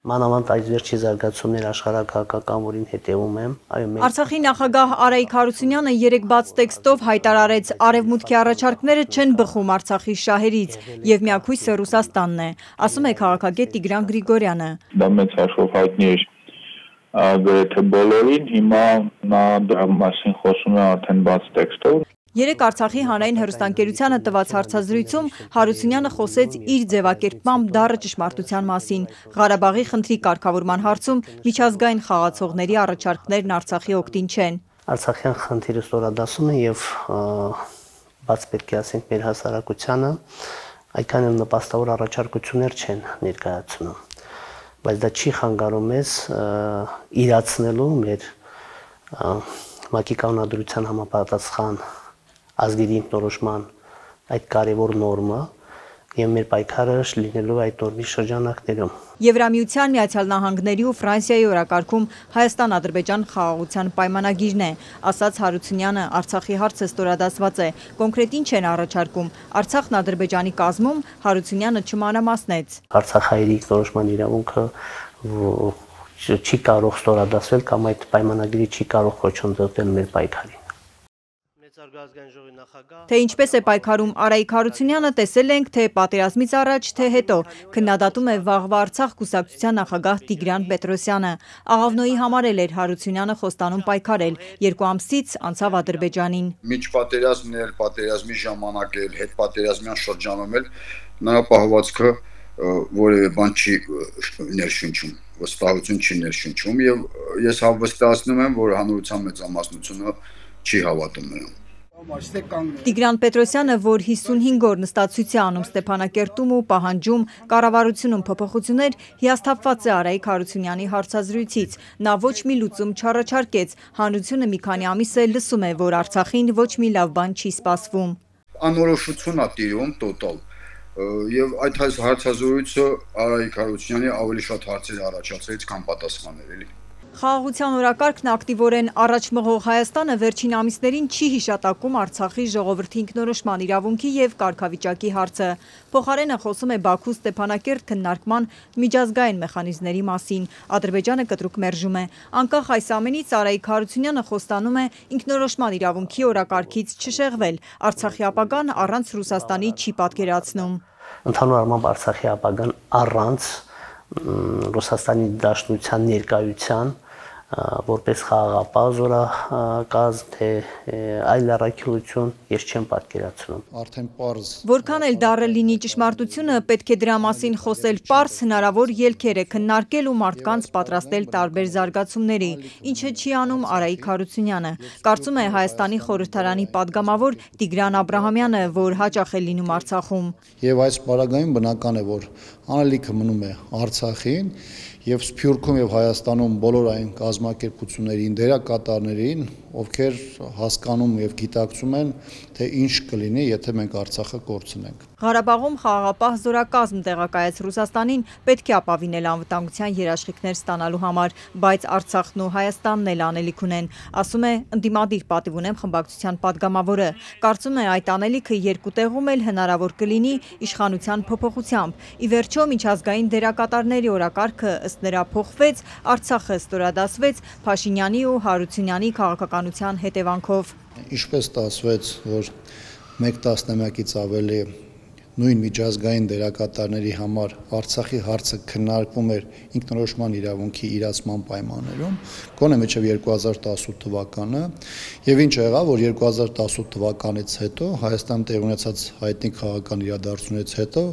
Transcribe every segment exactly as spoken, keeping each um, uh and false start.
Մանավանդ այս վերջի զարգացումներ աշխարհակահաղական, որին հետևում եմ, այո, մենք Արցախի նախագահ Արայիկ Հարությունյանը երեկ բաց տեքստով հայտարարեց, արևմուտքի առաջարկները չեն բխում Արցախի շահերից եւ միակույսը Ռուսաստանն է, ասում է քաղաքագետ Տիգրան Գրիգորյանը։ Դա մեծ հաշվով հայտնի էր գրեթե բոլորին, հիմա նա դրա մասին խոսում է արդեն բաց տեքստով։ Երեկ Արցախի հանրային հեռուստաընկերությանը տված հարցազրույցում Հարությունյանը խոսեց իր ձևակերպմամբ դառը ճշմարտության մասին։ Ղարաբաղի խնդրի կարգավորման հարցում միջազգային խաղացողների առաջարկներն Արցախի օգտին չեն։ Արցախյան խնդիրը ստորադասում է եւ բաց պետք է ասենք մեր հասարակությանը այդքան էլ նպաստավոր առաջարկություններ չեն ներկայացնում։ Բայց դա չի խանգարում մեզ իրացնելու մեր ՄԱԿ-ի կանոնադրության համապատասխան ազգերի ինքնորոշման այդ կարևոր նորմը եւ մեր պայքարը լինելու այդ նորմի շրջանակներում։ Եվրամիության, Միացյալ Նահանգների ու Ֆրանսիայի օրակարգում Հայաստան-Ադրբեջան խաղաղության պայմանագիրն է, ասաց Հարությունյանը, Արցախի հարցը ստորադասված է, կոնկրետ ինչ են առաջարկում, Արցախն Ադրբեջանի կազմում, Հարությունյանը չմանրամասնեց։ Արցախահայերի ինքնորոշման իրավունքը չի կարող ստորադասվել կամ այդ պայմանագիրը չի կարող խոչընդոտել մեր պայքարին։ Թե ինչպես է պայքարում Արայիկ Հարությունյանը, տեսել ենք թե պատերազմից առաջ, թե հետո, քննադատում է Վաղվա Արցախ կուսակցության նախագահ Տիգրան Պետրոսյանը։ Աղավնոյի համար էլ էր Հարությունյանը խոստանում պայքարել, երկու ամսից անցավ Ադրբեջանին։ Միջպատերազմն էլ, պատերազմի ժամանակ էլ, հետպատերազմյան շրջանում էլ նրա պահվածքը որևէ բան չի ներշնչում, վստահություն չի ներշնչում եւ ես հավաստիացնում եմ, որ հանրության մեծամասնությունը չի հավատում նրան։ Տիգրան Պետրոսյանը, որ հիսունհինգ օր նստացույց է անում Ստեփանակերտում ու պահանջում կառավարությունում փոփոխություններ, հիասթափված է Արայիկ Հարությունյանի հարցազրույցից։ Նա ոչ մի լուծում չառաջարկեց, հանրությունը մի քանի ամիս է լսում է, որ Արցախին ոչ մի լավ բան չի սպասվում։ Անորոշություն է տիրում տոտալ եւ այդ հարցազրույցը Արայիկ Հարությունյանի ավելի շատ հարցեր առաջացրեց, քան պատասխաններ էլի։ Խաղաղության օրակարգն ակտիվորեն առաջ մղող Հայաստանը վերջին ամիսներին չի հիշատակում Արցախի ժողովրդի ինքնորոշման իրավունքի եւ կարգավիճակի հարցը։ Փոխարենը խոսում է Բաքու Ստեփանակերտ քննարկման միջազգային մեխանիզմների մասին։ Ադրբեջանը կտրուկ մերժում է։ Անկախ այս ամենից Արայիկ Հարությունյանը խոստանում է ինքնորոշման իրավունքի օրակարգից չշեղվել։ Արցախի ապագան առանց Ռուսաստանի չի պատկերացնում։ Ընդհանուր առմամբ Արցախի ապագան առանց Ռուսաստանի Դաշնության ներկայության որպես խաղաղապահ զորակազմ, թե այլ առաքելություն ես չեմ պատկերացնում։ Արդեն պարզ։ Որքան էլ դառը լինի ճշմարտությունը, պետք է դրա մասին խոսել պարզ, հնարավոր ելքեր է քննարկել ու մարդկանց պատրաստել տարբեր զարգացումների, ինչը չի անում Արայիկ Հարությունյանը։ Կարծում է Հայաստանի խորհրդարանի падգամավոր Տիգրան Աբրահամյանը, որ հաճախ է լինում Արցախում։ Եվ այս պարագայում բնական է, որ անելիքը մնում է Արցախին եւ Սփյուռքում եւ Հայաստանում բոլոր այն կազմակերպություններին, դերակատարներին, ովքեր հասկանում եւ գիտակցում են, թե ինչ կլինի, եթե մենք Արցախը կորցնենք։ Ղարաբաղում խաղաղապահ զորակազմ տեղակայեց Ռուսաստանին, պետք է ապավինել անվտանգության երաշխիքներ ստանալու համար, բայց Արցախն ու Հայաստանն էլ անելիք ունեն, ասում է ընդդիմադիր պատիվ ունեմ խմբակցության падգամավորը։ Կարծում է այդ անելիքը երկու տեղում էլ հնարավոր կլինի իշխանության փոփոխությամբ։ Ի վերջո միջազգային դերակատարների օրակարգը ըստ նրա փոխվեց, Արցախը ստորադասվեց Փաշինյանի ու Հարությունյանի քաղաքականության հետևանքով։ Ինչպես ստացվեց, որ մեկ տասնամյակից ավելի նույն միջազգային դերակատարների համար Արցախի հարցը քննարկվում էր ինքնորոշման իրավունքի իրացման պայմաններում, գոնե մինչև երկու հազար տասութ թվականը, եւ ինչ եղավ, որ երկու հազար տասութ թվականից հետո Հայաստան տեղ ունեցած հայտնի քաղաքական իրադարձությունից հետո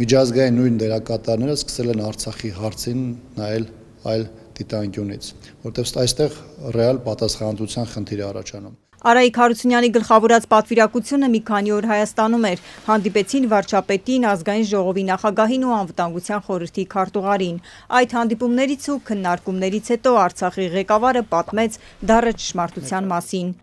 միջազգային նույն դերակատարները սկսել են Արցախի հարցին նայել այլ դիտանկյունից, որտեղ այստեղ ռեալ պատասխանատվության խնդիր է առաջանում։ Արայիկ Հարությունյանի գլխավորած պատվիրակությունը մի քանի օր Հայաստանում էր, հանդիպեցին վարչապետին, ազգային ժողովի նախագահին ու անվտանգության խորհրդի քարտուղարին։ Այդ հանդիպումներից ու քննարկումներից հետո Արցախի ղեկավարը պատմեց դառը ճշմարտության մասին։